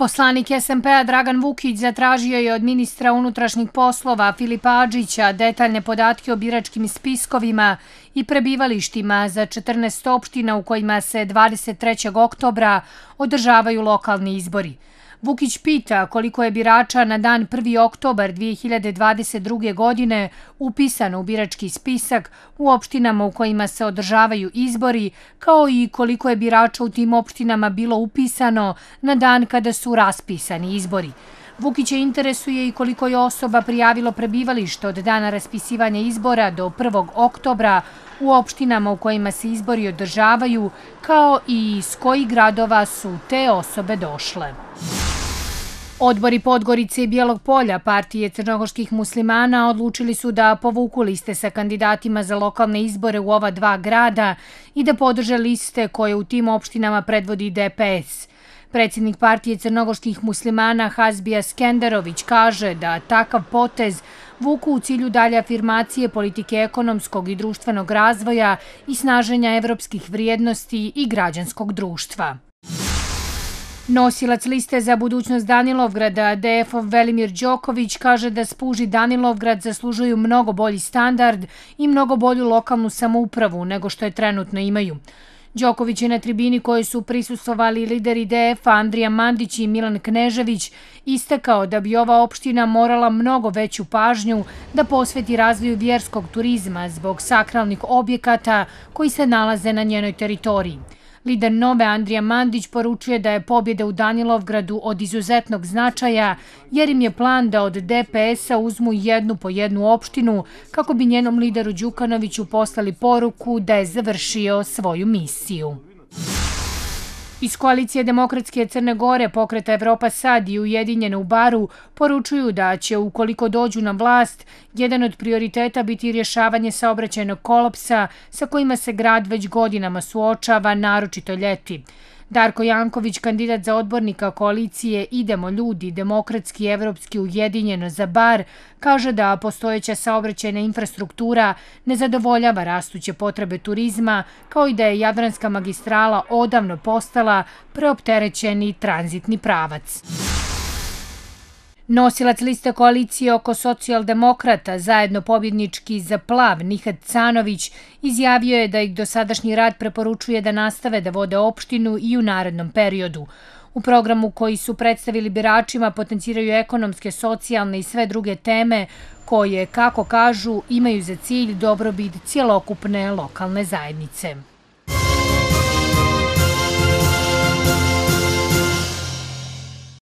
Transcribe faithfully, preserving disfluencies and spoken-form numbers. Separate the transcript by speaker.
Speaker 1: Poslanik es em pe-a Dragan Vukić zatražio je od ministra unutrašnjih poslova Filipa Adžića detaljne podatke o biračkim spiskovima i prebivalištima za četrnaest opština u kojima se dvadeset trećeg oktobra održavaju lokalni izbori. Vukić pita koliko je birača na dan prvi oktobar dve hiljade dvadeset druge. godine upisano u birački spisak u opštinama u kojima se održavaju izbori, kao i koliko je birača u tim opštinama bilo upisano na dan kada su raspisani izbori. Vukića interesuje i koliko je osoba prijavilo prebivalište od dana raspisivanja izbora do prvog oktobra u opštinama u kojima se izbori održavaju, kao i iz kojih gradova su te osobe došle. Odbori Podgorice i Bijelog Polja partije crnogorskih muslimana odlučili su da povuku liste sa kandidatima za lokalne izbore u ova dva grada i da podrže liste koje u tim opštinama predvodi de pe es. Predsjednik partije crnogorskih muslimana Hazbija Skenderović kaže da takav potez vuku u cilju dalje afirmacije politike ekonomskog i društvenog razvoja i snaženja evropskih vrijednosti i građanskog društva. Nosilac liste za budućnost Danilovgrada, de ef-ov Velimir Đoković, kaže da Spuž i Danilovgrad zaslužuju mnogo bolji standard i mnogo bolju lokalnu samoupravu nego što je trenutno imaju. Đoković je na tribini kojoj su prisustvovali lideri de ef-a Andrija Mandić i Milan Knežević istakao da bi ova opština morala mnogo veću pažnju da posveti razvoju vjerskog turizma zbog sakralnih objekata koji se nalaze na njenoj teritoriji. Lider Nove Andrija Mandić poručuje da je pobjeda u Danilovgradu od izuzetnog značaja jer im je plan da od de pe es-a uzmu jednu po jednu opštinu kako bi njenom lideru Đukanoviću poslali poruku da je završio svoju misiju. Iz koalicije Demokratske Crne Gore, Pokreta Evropa Sad i Ujedinjene u Baru poručuju da će, ukoliko dođu na vlast, jedan od prioriteta biti rješavanje saobraćajnog kolapsa sa kojima se grad već godinama suočava, naročito ljeti. Darko Janković, kandidat za odbornika koalicije Idemo ljudi, Demokratski, Evropski, Ujedinjeno za Bar, kaže da postojeća saobraćajna infrastruktura ne zadovoljava rastuće potrebe turizma, kao i da je Jadranska magistrala odavno postala preopterećeni tranzitni pravac. Nosilac liste koalicije oko socijaldemokrata, zajedno pobjednički za Plav, Nihat Canović, izjavio je da ih dosadašnji rad preporučuje da nastave da vode opštinu i u narednom periodu. U programu koji su predstavili biračima potenciraju ekonomske, socijalne i sve druge teme koje, kako kažu, imaju za cilj dobrobit cjelokupne lokalne zajednice.